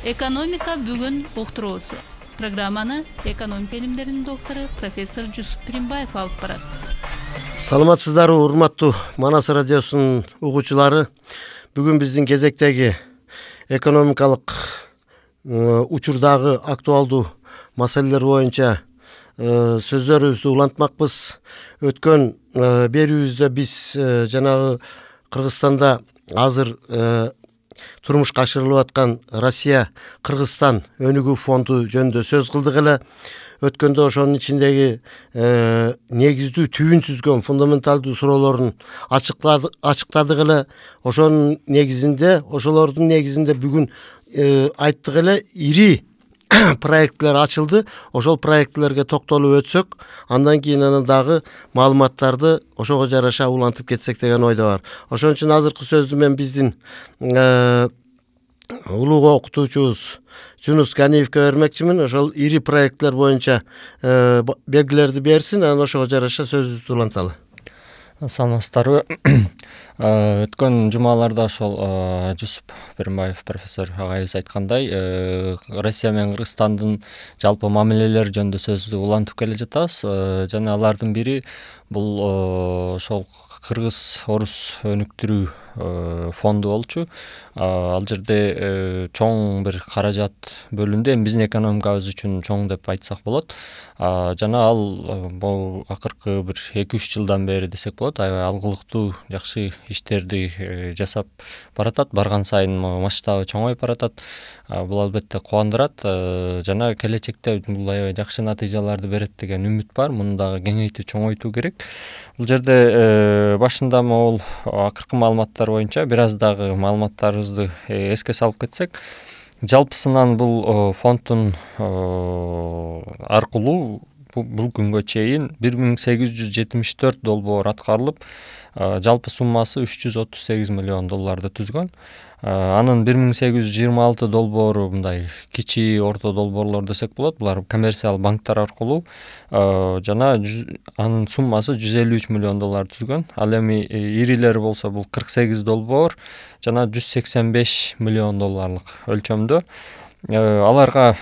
Экономика бүгүн уктуруусу. Программаны экономика илимдеринин доктору профессор Жусуп Пиринбаев алып барат. Саламатсыздарбы, урматтуу Манас радиосунун угуучулары. Бүгүн биздин кезектеги экономикалык учурдагы актуалдуу маселелер боюнча сөздөрүбүздү улантмакпыз. Өткөн берүүбүздө биз жанагы Кыргызстанда азыр турмушка ашырылып аткан Россия-Кыргызстан өнүгүү фонду жөнүндө сөз кылдык эле. Өткөндө ошонун ичиндеги негиздүү түбүн түзгөн фундаменталдуу суроолорун ачыктадык эле. Ошонун негизинде бүгүн айттык эле, ири проектлер ачылды. Ошол проектлерге токтолуп өтсөк, андан кийин дагы маалыматтарды ошого жараша улантып кетсек деген ойдо бар. Ошон үчүн азыркы сөздү мен биздин улуу окутуучубуз Жунус Ганиевке бермекчимин. Ошол ири проектлер боюнча белгилерди берсин, анан ошого жараша сөзүбүздү уланталы. Саламатсыздарбы. Өткөн жумаларда ошол Жусуп Пиринбаев профессор агайыбыз айткандай, Россия менен Кыргызстандын жалпы мамилелери жөнүндө сөздү улантып келе жатабыз. Жана алардын бири бул ошол кыргыз-орус өнүктүрүү фонду болчу. Ал жерде чоң бир каражат бөлүндү. Эми биздин экономикабыз үчүн чоң деп айтсак болот. Жана ал бул акыркы бир 2-3 жылдан бери десек болот, аябай алгылыктуу жакшы иштерди жасап баратат. Барган сайын масштабы чоңоюп баратат. Бул албетте кубандырат. Жана келечекте бул аябай жакшы натыйжаларды берет деген үмүт бар. Муну дагы кеңейтүү, чоңойтуу керек. Бул жерде башында могул акыркы маалыматтар боюнча бир аз дагы маалыматтарыбызды эске салып кетсек, жалпысынан бул фонддун аркылуу бул күнгө чейин 1874 долбоор аткарылып, жалпы суммасы $338 миллион түзгөн. Анын 1826 долбоору мындай кичи, орто долбоорлор десек болот. Булар коммерциялык банктар аркылуу жана анын суммасы $153 миллион түзгөн. Ал эми ирилери болсо бул 48 долбоор жана $185 миллион өлчөмдө. Аларга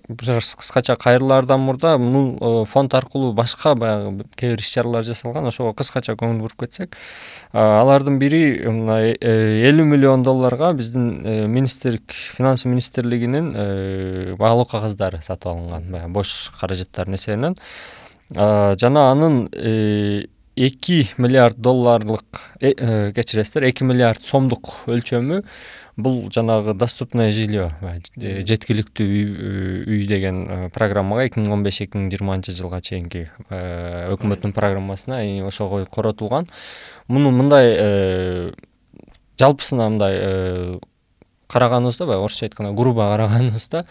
кыскача кайрылаардан мурда бул фонд аркылуу башка баягы кээ бир иш-чаралар жасалган. Ошого кыскача көңүл буруп кетсек, алардын бири $50 миллион биздин финансы министрлигинин баалуу кагаздары сатып алынган, баягы бош каражаттардын эсебинен. Жана анын $2 миллиард $2 миллиард сомдук өлчөмү бул жанагы доступное жилье, жеткиликтүү үй деген программага 2015-2020 жылга чейинки өкмөттүн программасына ошого коротулган. Муну мындай жалпысына мындай караганыбызда, баягы орусча айтканда грубо караганыбызда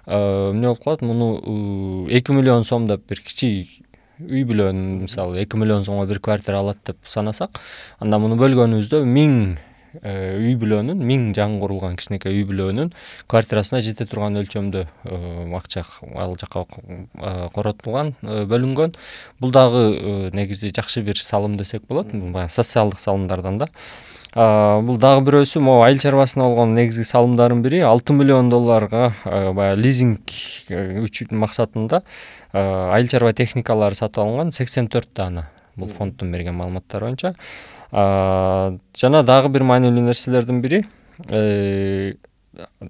эмне болуп калат? Муну 2 миллион сом деп бир кичи үй бүлөнүн, мисалы 2 миллион сомго бир квартира алат деп санасак, анда муну бөлгөнүбүздө 1000 үй бүлөнүн, 1000 жаңы курулган кичинекей үй бүлөнүн квартирасына жете турган өлчөмдө акча ал жака коротулган, бөлүнгөн. Бул дагы негизи жакшы бир салым десек болот, баягы социалдык салымдардан да. Бул дагы бирөөсү могу айыл чарбасына болгон негизги салымдардын бири $6 миллион баягы лизинг үчүн максатында айыл чарба техникалары сатып алынган 84 даана. Бул фонддун берген маалыматтары боюнча. Жана дагы бир маанилүү нерселердин бири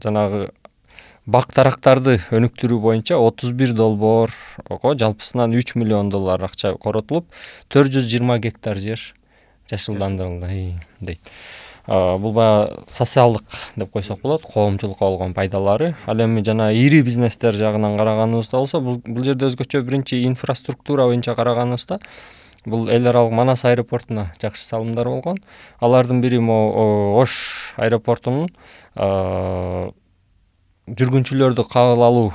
жанагы бак дарактарды өнүктүрүү боюнча 31 долбоорго жалпысынан $3 миллион акча коротулуп, 420 гектар жер жашылдандырылды дейт. Бул баягы социалдык деп койсок болот, коомчулукка болгон пайдалары. Ал эми жана ири бизнестер жагынан караганыбызда болсо, бул жерде өзгөчө биринчи инфраструктура боюнча караганыбызда бул эл аралык Манас аэропортуна жакшы салымдар болгон. Алардын бири Ош аэропортунун жүргүнчүлөрдү кабыл алуу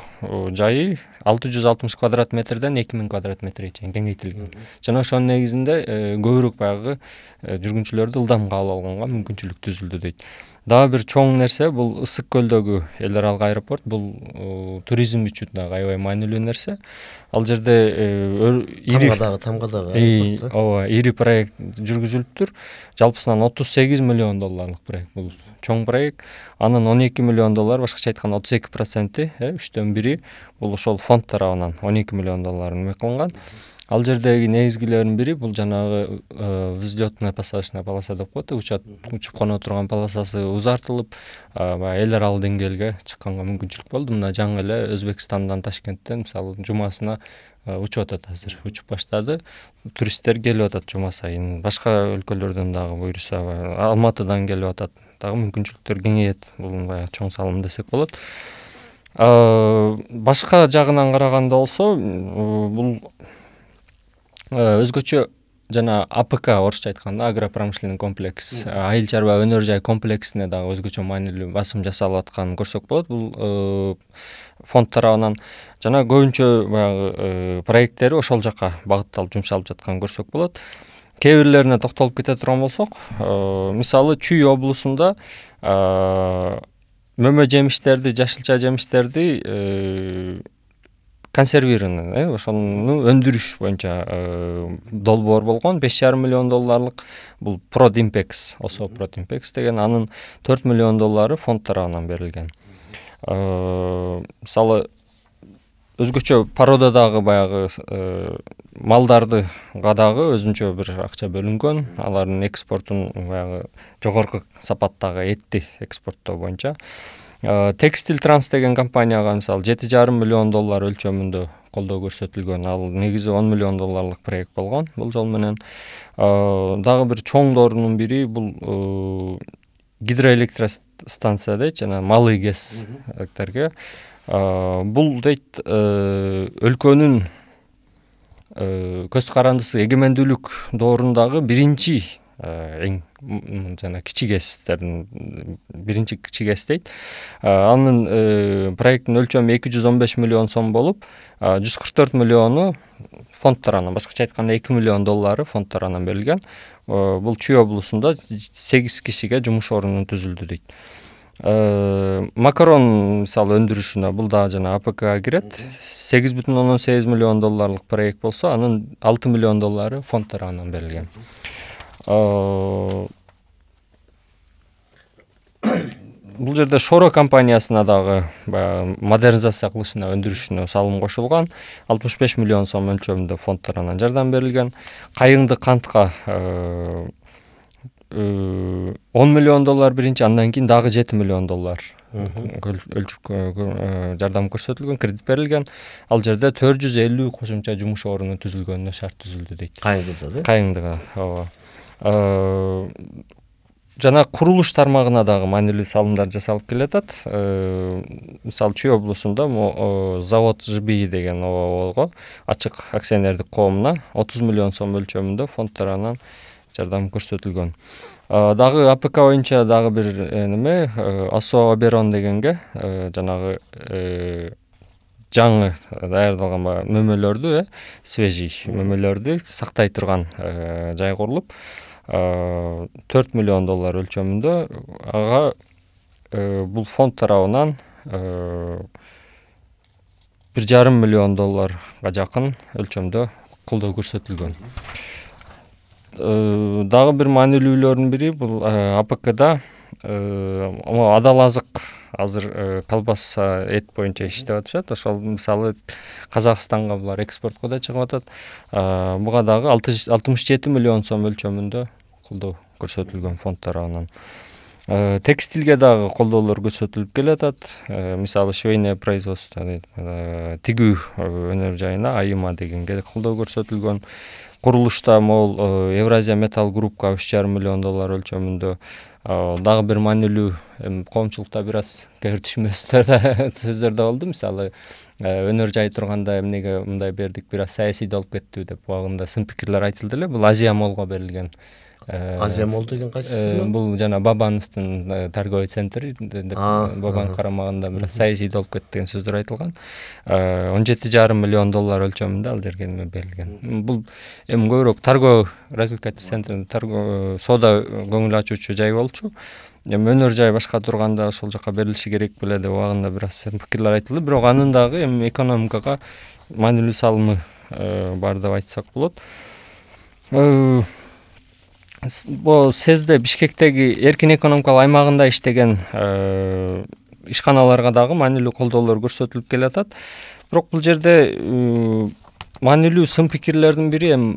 жайы 660 квадрат метрден 2000 квадрат метрге чейин кеңейтилген. Жана ошонун негизинде көбүрөөк баягы жүргүнчүлөрдү ылдам кабыл алганга мүмкүнчүлүк түзүлдү дейт. Дагы бир чоң нерсе бул Ысык көлдөгү эл аралык аэропорт. Бул туризм үчүн дагы аябай маанилүү нерсе. Ал жерде Тамга дагы ооба, ири проект жүргүзүлүптүр. Жалпысынан $38 миллион проект. Бул чоң проект. Анын $12 миллион, башкача айтканда 32%, 3/1 бул ошол фонд тарабынан $12 миллион эме кылынган. Ал жердеги негизгилердин бири бул жанагы взлётно-посадочная полоса деп коет. Учуп коно турган полосасы узартылып, баягы эл аралык деңгээлге чыкканга мүмкүнчүлүк болду. Мына жаңы эле Өзбекстандан, Ташкенттен мисалы жумасына учуп атат азыр. Учуп баштады. Туристтер келип атат жума сайын. Башка өлкөлөрдөн дагы буюрса, Алматыдан келип атат. Дагы мүмкүнчүлүктөр кеңейет. Бул баягы чоң салым десек болот. Башка жагынан караганда болсо, бул өзгөчө жана АПК, орусча айтканда агропромышленный комплекс, айыл чарба өнөр жай комплексине дагы өзгөчө маанилүү басым жасалып атканын көрсөк болот. Бул фонд тарабынан жана көбүнчө баягы проекттери ошол жака багытталып жумшалып жатканын көрсөк болот. Кээ бирлерине токтолуп кете турган болсок, мисалы Чүй облусунда мөмө жемиштерди, жашылча жемиштерди консервированный, ошону өндүрүш боюнча долбоор болгон $5,5 миллион. Бул Продимпекс, ОСО Продимпекс деген, анын $4 миллион фонд тарабынан берилген. Мисалы өзгөчө породадагы баягы малдарды дагы өзүнчө бир акча бөлүнгөн. Алардын экспортун баягы жогорку сапаттагы этти экспорттоо боюнча. Текстил Транс деген компанияга мисалы $7,5 миллион өлчөмүндө колдоо көрсөтүлгөн. Ал негизи $10 миллион проект болгон. Бул жол менен дагы бир чоңдорунун бири бул гидроэлектростанция дейт, жана малый гэстерге. Бул дейт өлкөнүн көз карандысы эгемендүүлүк доорундагы биринчи эң жана кичи гэстердин биринчи кичи гэс дейт. Анын проекттин өлчөмү $215 миллион болуп, $144 миллиону фонд тарабынан, башкача айтканда $2 миллион фонд тарабынан берилген. Бул Чүй облусунда 8 кишиге жумуш орнун түзүлдү дейт. Макарон мисалы өндүрүшүнө бул да жана АПКга кирет. $8,8 миллион проект болсо, анын $6 миллион фонд тарабынан берилген. Бул жерде Шоро компаниясына дагы модернизация кылышына, өндүрүшүнө салым кошулган. $65 миллион өлчөмүндө фонд тарабынан жардам берилген. Кайыңды кантка $10 миллион биринчи, андан кийин дагы $7 миллион жардам көрсөтүлгөн, кредит берилген. Ал жерде 450 кошумча жумуш орнунун түзүлгөнүнө шарт түзүлдү дейт. Кайыңдыга, ооба. Жана курулуш тармагына дагы маанилүү салымдар жасалып келатат. Мисалы Чүй облусунда завод ЖБИ деген ого ачык акционердик коомуна $30 миллион өлчөмүндө фонд тарабынан жардам көрсөтүлгөн. Дагы АПК боюнча дагы бир неме, ОСО Оберон дегенге жанагы жаңы даярдалган мөмөлөрдү, свежий мөмөлөрдү сактай турган жай курулуп, $4 миллион өлчөмүндө ага бул фонд тарабынан $1,5 миллион жакын өлчөмдө колдоо көрсөтүлгөн. Дагы бир маанилүүлөрдүн бири бул АПКда адал азык азыр колбаса, эт боюнча иштеп атышат. Ошол мисалы Казакстанга булар экспортко да чыгып атат. Буга дагы $67 миллион өлчөмүндө колдоо көрсөтүлгөн фонд тарабынан. Текстилге дагы колдоолор көрсөтүлүп келатат. Мисалы швейное производство, тигүү өнөр жайына Айыма дегенге колдоо көрсөтүлгөн. Курулушта могул Евразия Металл Группка $3,5 миллион өлчөмүндө. Дагы бир маанилүү коомчулукта бир аз сөздөр да болду. Мисалы өнөр жай турганда эмнеге мындай бердик, бир аз саясий болуп кеттиби деп убагында сын пикирлер айтылды эле. Бул Азия Молго берилген Азия Молл деген кайсы? Бул жана Бабановдун торговый центри деп Бабанов карамагында бир саясий болуп кетти деген сөздөр айтылган. 17,5 миллион доллар өлчөмүндө ал жерге берилген. Бул эми көбүрөөк торговый развлекательный центр, торговый соода көңүл ачуучу жай болчу. Эми өнөр жай башка турганда ошол жака берилиши керек беле деп убагында бир аз пикирлер айтылды. Бирок анын дагы эми экономикага маанилүү салымы бар деп айтсак болот. Бул СЭЗде Бишкектеги эркин экономикалык аймагында иштеген ишканаларга дагы маанилүү колдоолор көрсөтүлүп келатат. Бирок бул жерде маанилүү сын пикирлердин бири эми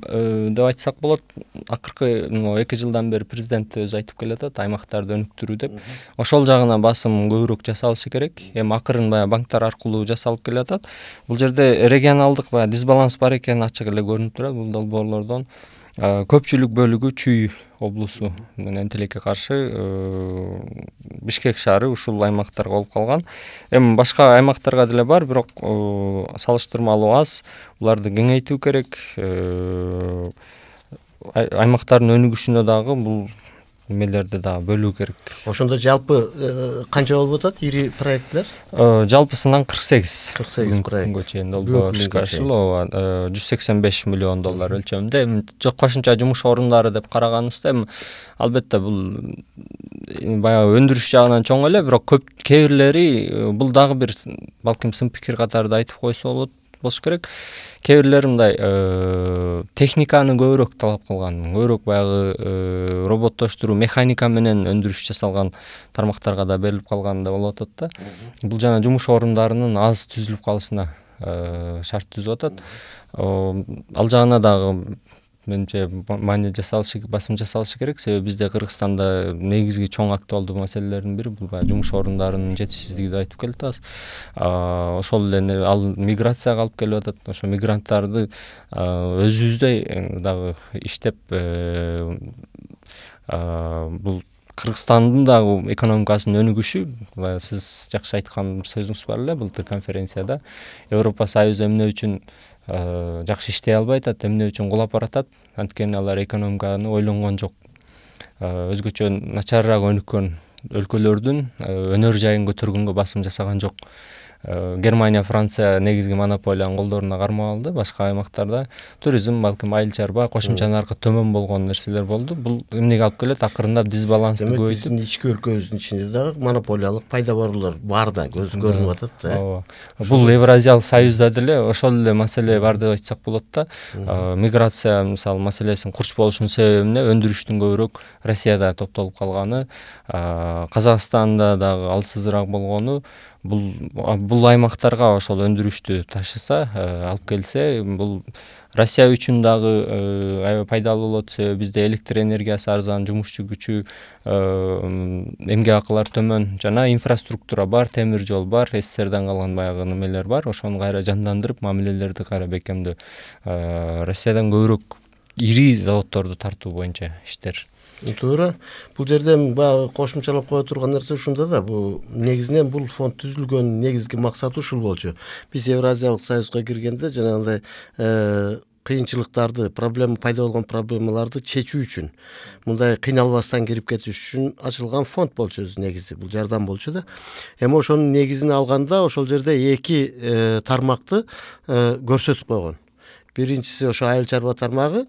деп айтсак болот, акыркы 2 жылдан бери президент өзү айтып келатат, аймактарды өнүктүрүү деп. Ошол жагына басым көбүрөөк жасалышы керек. Эми акырын баягы банктар аркылуу жасалып келатат. Бул жерде регионалдык баягы дисбаланс бар экени ачык эле көрүнүп турат. Бул долбоорлордон көпчүлүк бөлүгү Чүй облусу менен тилекке каршы Бишкек шаары ушул аймактарга болуп калган. Эми башка аймактарга деле бар, бирок салыштырмалуу аз. Буларды кеңейтүү керек. Аймактардын өнүгүшүнө дагы бул эмелерди дагы бөлүү керек. Ошондо жалпы канча болуп атат ири проекттер? Жалпысынан 48 проект. Күнгө чейин долбоор ишке ашырылып, 185 миллион доллар өлчөмүндө. Эми кошумча жумуш орундары деп караганыбызда, эми албетте бул баягы өндүрүш жагынан чоң эле, бирок кээ бирлери бул дагы бир балким сын пикир катарында айтып койсо болуш керек. Кээ бирлери мындай техниканы көбүрөөк талап кылган, көбүрөөк баягы роботтоштуруу, механика менен өндүрүш жасалган тармактарга да берилип калган да болуп атат да. Бул жана жумуш орундарынын аз түзүлүп калышына шарт түзүп атат. Ал жагына дагы менимче маани жасалышы, басым жасалышы керек. Себеби бизде Кыргызстанда негизги чоң актуалдуу маселелердин бири бул баягы жумуш орундарынын жетишсиздиги деп айтып келатабыз. Ошол эле ал миграцияга алып келип атат. Ошо мигранттарды өзүбүздөй дагы иштеп бул Кыргызстандын дагы экономикасынын өнүгүшү, сиз жакшы айткан бир сөзүңүз бар эле былтыр конференцияда. Европа Союзу эмне үчүн жакшы иштей албай атат, эмне үчүн кулап баратат? Анткени алар экономиканы ойлонгон жок. Өзгөчө начарыраак өнүккөн өлкөлөрдүн өнөр жайын көтөргөнгө басым жасаган жок. Германия, Франция негизги монополиянын колдоруна кармап алды. Башка аймактарда туризм, балким айыл чарба, кошумча наркы төмөн болгон нерселер болду. Бул эмнеге алып келет? Акырындап дисбалансты көбөйтүп. Биздин ички өлкөбүздүн ичинде дагы монополиялык пайда баруулар бар да, көз көрүнүп атат да. Бул Евразиялык союзда деле ошол эле маселе бар деп айтсак болот да. Миграция мисалы маселесин курч болушунун себеби эмне? Өндүрүштүн көбүрөөк Россияда топтолуп калганы, Казакстанда дагы алсызыраак болгону. Бул аймактарга ошол өндүрүштү ташыса, алып келсе, бул Россия үчүн дагы аябай пайдалуу болот. Себеби бизде электр энергиясы арзан, жумушчу күчү, эмгек акылар төмөн жана инфраструктура бар, темир жол бар, СССРден калган баягы немелер бар. Ошону кайра жандандырып, мамилелерди кайра бекемдөө. Россиядан көбүрөөк ири заводдорду тартуу боюнча иштер. Туура. Бул жерде баягы кошумчалап кое турган нерсе ушунда да, бул негизинен бул фонд түзүлгөн негизги максаты ушул болчу. Биз Евразиялык союзга киргенде жанагындай кыйынчылыктарды, пайда болгон проблемаларды чечүү үчүн, мындай кыйналбастан кирип кетиш үчүн ачылган фонд болчу өзү негизи. Бул жардам болчу да. Эми ошонун негизин алганда ошол жерде 2 тармакты көрсөтүп койгон. Биринчиси ошо айыл чарба тармагы,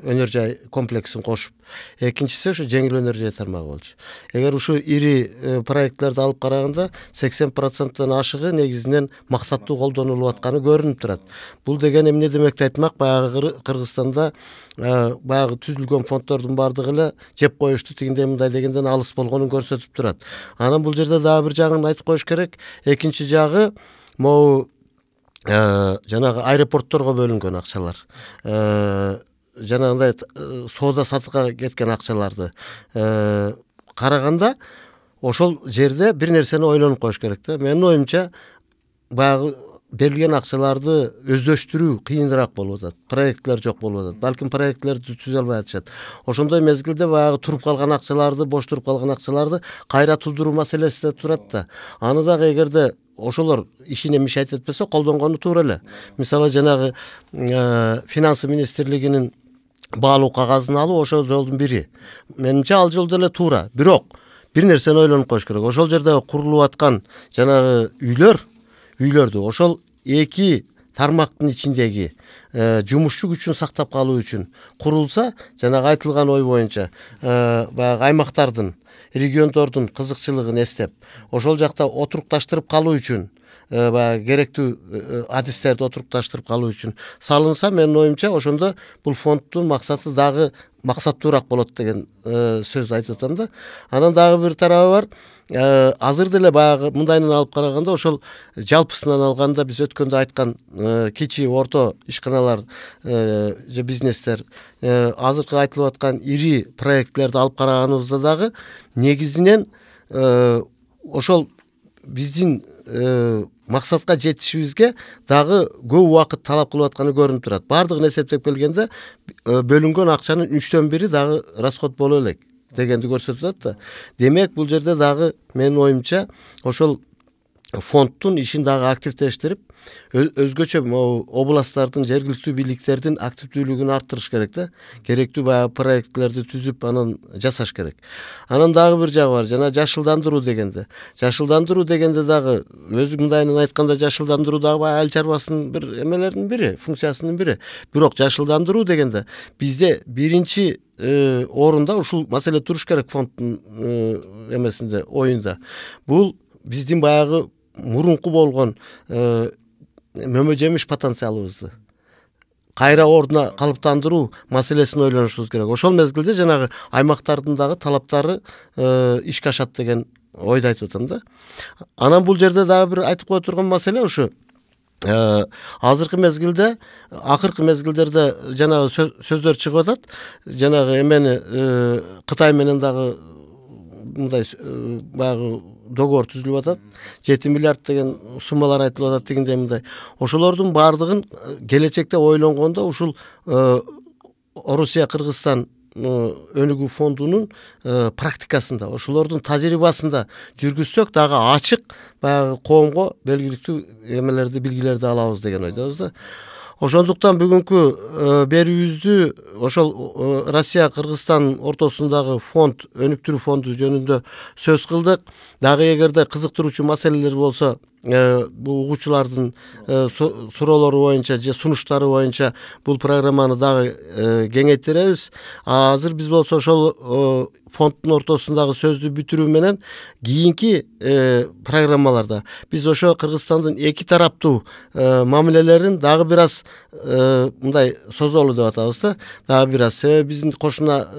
өнөр жай комплексин кошуп, экинчиси ошо жеңил өнөр жай тармагы болчу. Эгер ушу ири проектлерди алып караганда 80%тан ашыгы негизинен максаттуу колдонулуп атканы көрүнүп турат. Бул деген эмне демекти айтмак? Баягы Кыргызстанда баягы түзүлгөн фонддордун бардыгы эле жеп коюшту, тигиндей мындай дегенден алыс болгонун көрсөтүп турат. Анан бул жерде дагы бир жагын айтып коюш керек. Экинчи жагы могу жанагы аэропортторго бөлүнгөн акчалар. Жанагындай соода сатыкка кеткен акчаларды караганда ошол жерде бир нерсени ойлонуп коюш керек да. Менин оюмча баягы берилген акчаларды өздөштүрүү кыйыныраак болуп атат. Проектлер жок болуп атат. Балким проектлерди түзө албай атышат. Ошондой мезгилде баягы туруп калган акчаларды, бош туруп калган акчаларды кайра тудуруу маселеси да турат да. Аны дагы эгерде ошолор ишине мишайт этпесе колдонгону туура эле. Мисалы жанагы финансы министрлигинин баалуу кагазын алуу ошол жолдун бири. Менимче ал жол деле туура. Бирок бир нерсени ойлонуп коюш керек. Ошол жерде курулуп аткан жанагы үйлөрдү ошол эки тармактын ичиндеги жумушчу күчүн сактап калуу үчүн курулса, жанагы айтылган ой боюнча баягы аймактардын, региондордун кызыкчылыгын эстеп, ошол жакта отурукташтырып калуу үчүн баягы керектүү адистерди отурукташтырып калуу үчүн салынса, менин оюмча ошондо бул фонддун максаты дагы максаттуураак болот деген сөз айтып атам да. Анан дагы бир тарабы бар. Азыр деле баягы мындайынан алып караганда ошол жалпысынан алганда биз өткөндө айткан кичи орто ишканалар же бизнестер азыркы айтылып аткан ири проектлерди алып караганыбызда дагы негизинен ошол биздин максатка жетишибизге дагы көп убакыт талап кылып атканы көрүнүп турат. Баардыгын эсептеп келгенде бөлүнгөн акчанын 1/3 дагы расход боло элек дегенди көрсөтүп атат да. Демек бул жерде дагы менин оюмча ошол фонддун ишин дагы активдештирип, өзгөчө областтардын, жергиликтүү бийликтердин активдүүлүгүн арттырыш керек да. Керектүү баягы проектлерди түзүп, анан жасаш керек. Анан дагы бир жагы бар, жана жашылдандыруу дегенде. Жашылдандыруу дегенде дагы өзү мындайынан айтканда жашылдандыруу дагы баягы айыл чарбасынын бир эмелеринин бири, функциясынын бири. Бирок жашылдандыруу дегенде бизде биринчи орунда ушул маселе туруш керек фонддун эмесинде, оюнда. Бул биздин баягы мурунку болгон мөмө жемиш потенциалыбызды кайра ордуна калыптандыруу маселесин ойлонушубуз керек. Ошол мезгилде жанагы аймактардын дагы талаптары ишке ашат деген ойду айтып атам да. Анан бул жерде дагы бир айтып кое турган маселе ушу азыркы мезгилде, акыркы мезгилдерде жанагы сөздөр чыгып атат. Жанагы эмени Кытай менен дагы мындай баягы договор түзүлүп атат. 7 миллиард деген суммалар айтылып атат дегендей мындай. Ошолордун баардыгын келечекте ойлонгондо ушул Орусия, Кыргызстан өнүгүү фондунун практикасында, ошолордун тажрыйбасында жүргүзсөк дагы ачык баягы коомго белгиликтүү эмелерди, билгилерди алабыз деген ойдобуз да. Ошондуктан бүгүнкү берүүбүздү ошол Россия, Кыргызстан ортосундагы фонд, өнүктүрүү фонду жөнүндө сөз кылдык. Дагы эгерде кызыктыруучу маселелер болсо, бул угуучулардын суроолору боюнча же сунуштары боюнча бул программаны дагы кеңейтиребиз. Азыр биз болсо ошол фонддун ортосундагы сөздү бүтүрүү менен кийинки программаларда биз ошо Кыргызстандын эки тараптуу мамилелерин дагы бир аз мындай созолу деп атабыз да. Дагы бир аз себеби биздин кошуна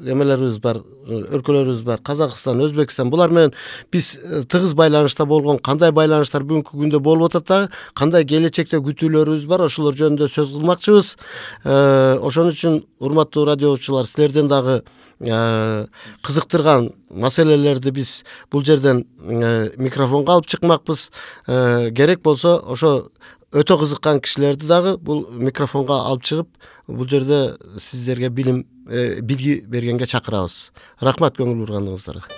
эмелерибиз бар, өлкөлөрүбүз бар. Казакстан, Өзбекстан, булар менен биз тыгыз байланышта болгон, кандай байланыштар бүгүнкү күндө болуп атат дагы, кандай келечекте күтүүлөрүбүз бар, ошолор жөнүндө сөз кылмакчыбыз. Ошон үчүн урматтуу радио угуучулар, силерден дагы кызыктырган маселелерди биз бул жерден микрофонго алып чыкмакпыз. Керек болсо ошо өтө кызыккан кишилерди дагы бул микрофонго алып чыгып, бул жерде сиздерге билги бергенге чакырабыз. Рахмат көңүл бургандыгыңыздарга.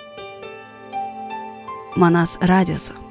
Манас радиосу.